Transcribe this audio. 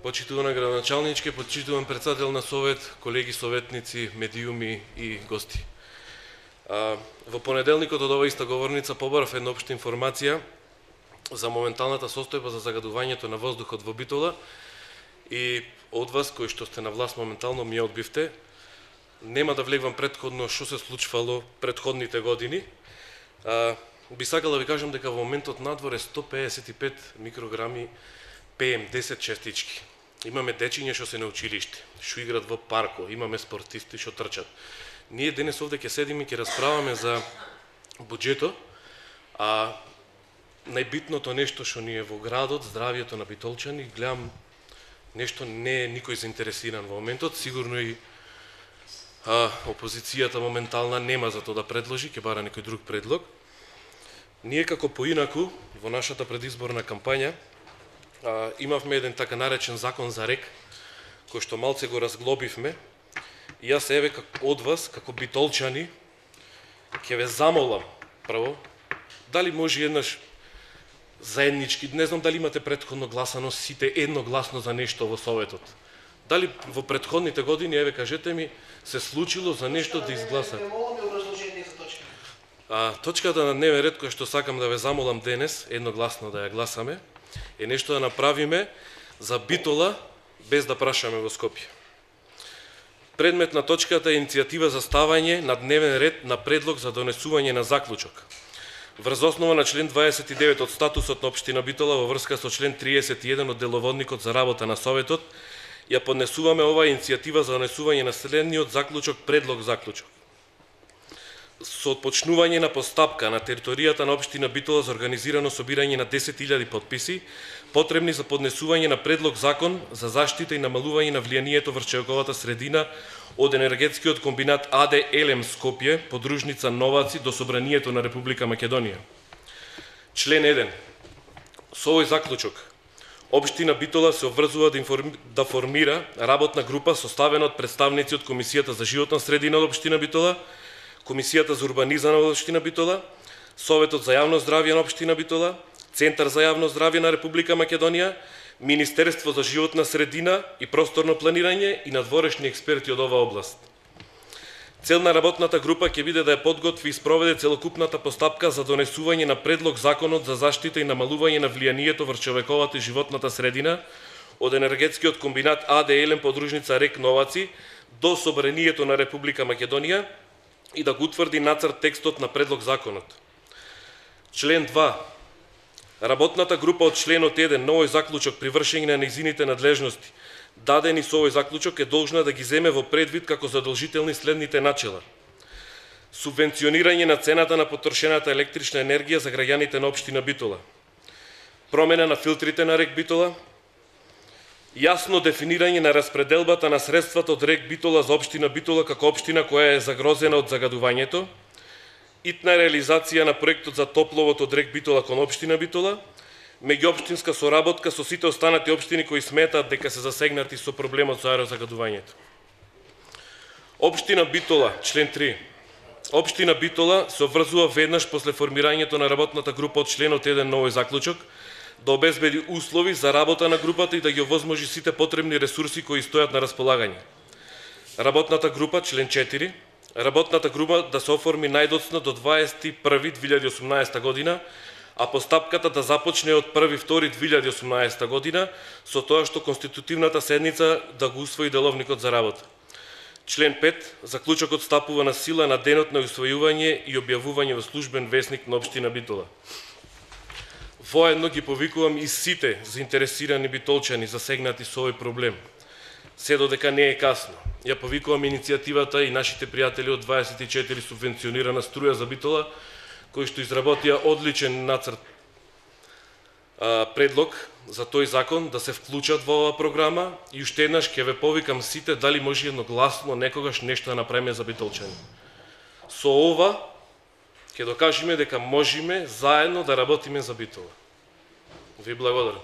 Почитувана градоначалничке, почитуван председател на совет, колеги советници, медиуми и гости. Во понеделникот од оваа иста говорница побарав една општа информација за моменталната состојба за загадувањето на воздухот во Битола и од вас кои што сте на власт моментално ми ја одбивте. Нема да влегвам претходно што се случвало претходните години. Би сакал да ви кажам дека во моментот надвор е 155 микрограми PM10 честички. Имаме дечиња што се на училиште, што играат во парко, имаме спортисти што трчат. Ние денес овде ќе седиме и ќе расправаме за буџетот, а најбитното нешто што ни е во градот, здравието на битолчани, гледам нешто не е никој заинтересиран во моментот, сигурно и опозицијата моментална нема за тоа да предложи, ќе бара некој друг предлог. Ние како поинаку во нашата предизборна кампања имавме еден така наречен закон за РЕК, кој што малце го разглобивме, и јас еве од вас, како битолчани, ќе ве замолам, прво, дали може еднаш заеднички, не знам дали имате претходно гласано сите едногласно за нешто во Советот. Дали во претходните години, еве кажете ми, се случило за нешто да изгласат? Точката на дневен ред која што сакам да ве замолам денес, едногласно да ја гласаме, е нешто да направиме за Битола без да прашаме во Скопје. Предмет на точката е иницијатива за ставање на дневен ред на предлог за донесување на заклучок. Врз основа на член 29 од статусот на општина Битола во врска со член 31 од деловодникот за работа на Советот, ја поднесуваме оваа иницијатива за донесување на следниот заклучок, предлог заклучок. Со отпочнување на постапка на територијата на општина Битола за организирано собирање на 10.000 подписи, потребни за поднесување на предлог закон за заштита и намалување на влијанието врз човековата средина од енергетскиот комбинат АД Елем Скопје, подружница Новаци, до Собранието на Република Македонија. Член 1. Со овој заклучок, општина Битола се обврзува да формира работна група составена од представници од Комисијата за животна средина од општина Битола, Комисијата за урбанизам на општина Битола, Советот за јавно здравје на општина Битола, Центар за јавно здравје на Република Македонија, Министерство за животна средина и просторно планирање и надворешни експерти од оваа област. Цел на работната група ќе биде да ја подготви и спроведе целокупната постапка за донесување на предлог законот за заштита и намалување на влијанието врз човековата и животната средина од енергетскиот комбинат АД Елем подружница РЕК Новаци до Собранието на Република Македонија и да го утврди нацрт текстот на предлог законот. Член 2. Работната група од членот 1 на овој заклучок при вршење на нејзините надлежности, дадени со овој заклучок, е должна да ги земе во предвид како задолжителни следните начела: субвенционирање на цената на потрошената електрична енергија за граѓаните на општина Битола, промена на филтрите на РЕК Битола, јасно дефинирање на распределбата на средствата од РЕК Битола за општина Битола како општина која е загрозена од загадувањето, итна реализација на проектот за топловод од РЕК Битола кон општина Битола, меѓуопштинска соработка со сите останати општини кои сметаат дека се засегнати со проблемот со аерозагадувањето. Општина Битола, член 3. Општина Битола се обврзува веднаш после формирањето на работната група од членот 1 на овој заклучок да обезбеди услови за работа на групата и да ги овозможи сите потребни ресурси кои стојат на располагање. Работната група, член 4. Работната група да се оформи најдоцна до 21.2018 година, а постапката да започне од 1.2.2018 година, со тоа што конститутивната седница да го усвои деловникот за работа. Член 5. Заклучокот стапува на сила на денот на усвојување и објавување во службен весник на општина Битола. Воедно ги повикувам и сите заинтересирани битолчани засегнати со овој проблем. Се додека не е касно. Ја повикувам иницијативата и нашите пријатели од 24 субвенционирана струја за Битола, кои што изработија одличен нацрт предлог за тој закон да се вклучат во оваа програма, и уште еднаш ќе ве повикам сите дали може едногласно некогаш нешто да направиме за битолчани. Со ова ќе докажеме дека можеме заедно да работиме за Битола. Ви благодарам.